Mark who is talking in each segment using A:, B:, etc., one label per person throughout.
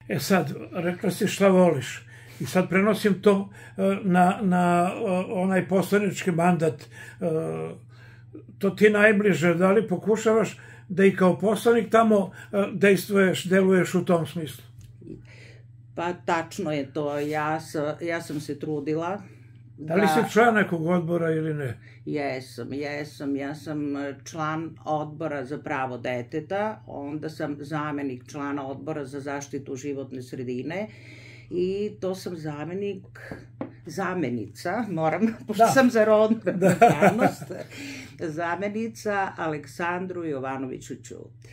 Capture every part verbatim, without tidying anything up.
A: E sad, rekla si šta voliš. I sad prenosim to na, na onaj poslanički mandat. To ti najbliže. Da li pokušavaš da i kao poslanik tamo dejstvuješ, deluješ u tom smislu?
B: Pa tačno je to. Ja, ja sam se trudila.
A: Da li si član nekog odbora ili ne?
B: Jesam, jesam. Ja sam član odbora za pravo deteta, onda sam zamenik člana odbora za zaštitu životne sredine i to sam zamenik, zamenica, moram, pošto sam za rodnu ravnopravnost, zamenica Aleksandru Jovanoviću Ćuti.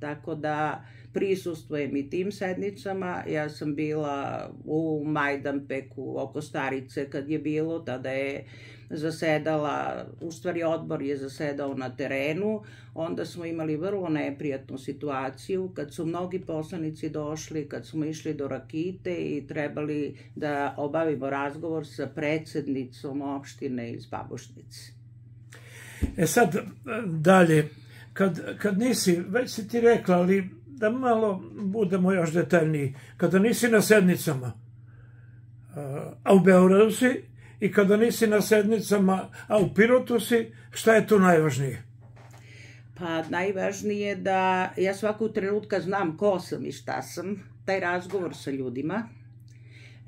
B: Tako da prisustvujem i tim sednicama. Ja sam bila u Majdanpeku oko Starice kad je bilo, tada je zasedala, u stvari odbor je zasedao na terenu, onda smo imali vrlo neprijatnu situaciju kad su mnogi poslanici došli, kad smo išli do Rakite i trebali da obavimo razgovor sa predsednicom opštine iz Babušnice.
A: E sad, dalje, kad, kad nisi, već si ti rekla, ali da malo budemo još detaljniji, kada nisi na sednicama, a u Beogradu si, i kada nisi na sednicama, a u Pirotu si, šta je tu najvažnije?
B: Pa najvažnije je da ja svakog trenutka znam ko sam i šta sam, taj razgovor sa ljudima,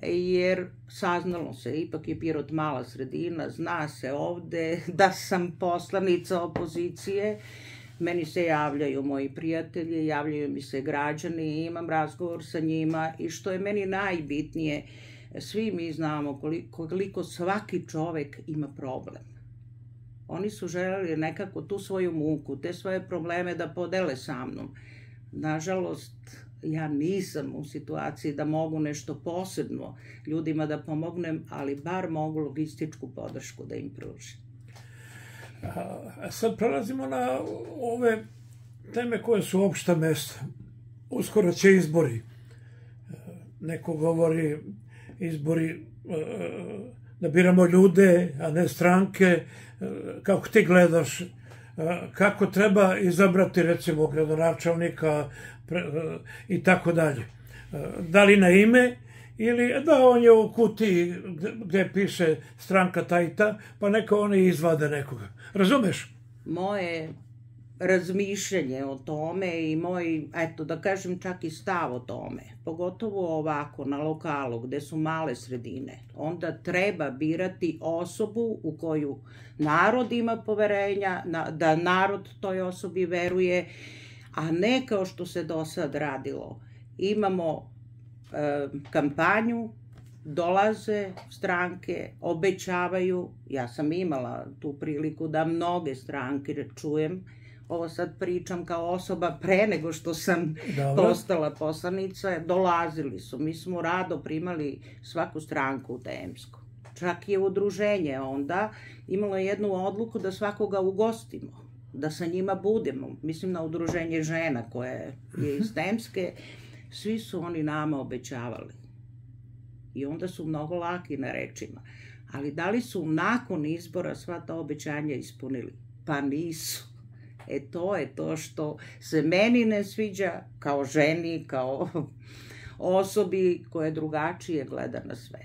B: jer saznalo se, ipak je Pirot mala sredina, zna se ovde da sam poslanica opozicije, meni se javljaju moji prijatelji, javljaju mi se građani, imam razgovor sa njima i što je meni najbitnije, svi mi znamo koliko, koliko svaki čovek ima problem. Oni su želeli nekako tu svoju muku, te svoje probleme da podele sa mnom. Nažalost, ja nisam u situaciji da mogu nešto posebno ljudima da pomognem, ali bar mogu logističku podršku da im pružim.
A: A sad prelazimo na ove teme koje su opšta mesta. Uskoro će izbori. Neko govori izbori da biramo ljude, a ne stranke. Kako ti gledaš? Kako treba izabrati, recimo, gradonačelnika i tako dalje? Da li na ime ili da on je u kutiji gde piše stranka ta i ta, pa neka oni izvade nekoga. Razumeš?
B: Moje razmišljanje o tome i moj, eto da kažem čak i stav o tome, pogotovo ovako na lokalu gde su male sredine, onda treba birati osobu u koju narod ima poverenja, da narod toj osobi veruje, a ne kao što se do sad radilo. Imamo kampanju, dolaze stranke, obećavaju, ja sam imala tu priliku da mnoge stranke čujem, ovo sad pričam kao osoba pre nego što sam postala poslanica, dolazili su, mi smo rado primali svaku stranku u Temsku. Čak je udruženje onda imalo jednu odluku da svakoga ugostimo, da sa njima budemo, mislim na udruženje žena koje je iz Temske, svi su oni nama obećavali. I onda su mnogo laki na rečima. Ali da li su nakon izbora sva ta obećanja ispunili? Pa nisu. E to je to što se meni ne sviđa kao ženi, kao osobi koja drugačije gleda na sve.